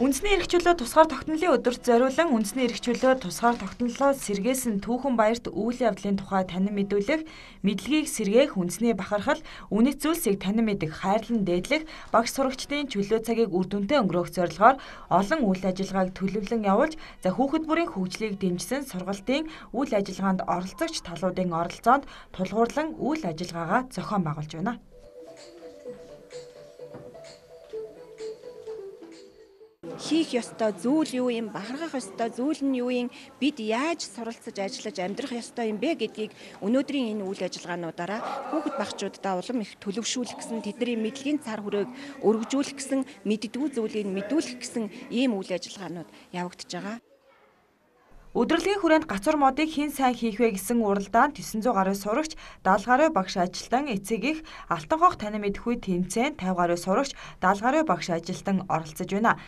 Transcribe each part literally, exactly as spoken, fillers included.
Үндэсний эрх чөлөө тусгаар тогтнолын өдөрт зориулан үндэсний эрх чөлөө тусгаар тогтнолоо сэргээсэн түүхэн баярт үйл явдлын тухай танин мэдүүлэх, мэдлэгийг сэргээх, үндэсний бахархал, үнэт зүйлсийг танин мэдэх, хайрлан дээдлэх, багш сурагчдын чөлөө цагийг үр дүнтэй өнгөрөөх зорилгоор олон үйл ажиллагааг төлөвлөн явуулж, за хүүхэд бүрийн хөгжлийг дэмжсэн сургалтын үйл ажиллагаанд оролцогч талуудын оролцоонд тулгуурлан үйл ажиллагаагаа зохион байгуулж байна. Хийх ёстой зүйл юу юм, бахархах ёстой зүйл нь юу юм, бид яаж суралцаж ажиллаж амьдрах ёстой юм бэ гэдгийг өнөөдрийн энэ үйл ажиллагаануудаараа хүүхэд багчуудаа улам их төлөвшүүлэх гэсэн, тэдний мэдлэгийн цар хүрээг өргөжүүлэх гэсэн, мэддэггүй зүйлийг мэдүүлэх гэсэн ийм үйл ажиллагаанууд явагдаж байгаа. Өдөрлөгийн хүрээнд гацур модыг хэн сайн хийх вэ гэсэн уралдаанд төсөн зуун гаруй сурагч, даатал гаруй багш ажилтан, эцэг их алтан хог танин мэдэх үе тэмцээнд тавь гаруй сурагч, даатал гаруй багш ажилтан оролцож байна.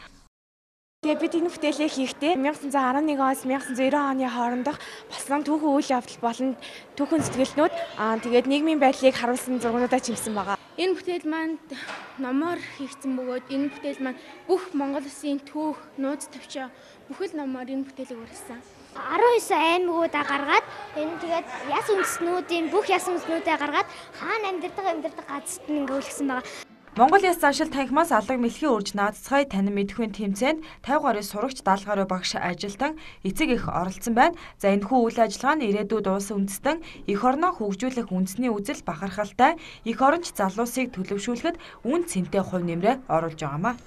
Тэгээ бид энэ бүтээлээ хийхдээ мянга санзаа арван нэг оноос мянга санзаа ирээ оны хоорондох болсон түүхэн үйл явдал болон түүхэн сэтгэлнүүд аа тэгээд нийгмийн байдлыг харуулсан зургуудаа чимсэн байгаа. Энэ бүтээл маань номоор хийгдсэн бөгөөд энэ бүтээл маань бүх Монгол Улсын түүх, нууц төвчөө бүхэл номоор энэ бүтээлийг урьдсан. арван девять аймагуудаа гаргаад энэ тэгээд яс үндэстнүүдийн бүх яс үндэстнүүдээ гаргаад хаана амьдардаг амьдардаг газарт нь ингээ үлгсэн байгаа. Монгол Яс заншил танхимаас алга мэлхийн үрж наацгай танин мэдэхүйн тэмцээнд тавь гаруй сурагч, даатал гаруй багш ажилтан, эцэг их оролцсон байна. За энэхүү үйл ажиллагаа нь ирээдүйд улс үндэстэн эх орноо хөгжүүлэх үндэсний үзэл бахархалтай эх оронч залуусыг төлөвшүүлэхэд үн цэнтэй хувь нэмрээ оруулж байгаамаа.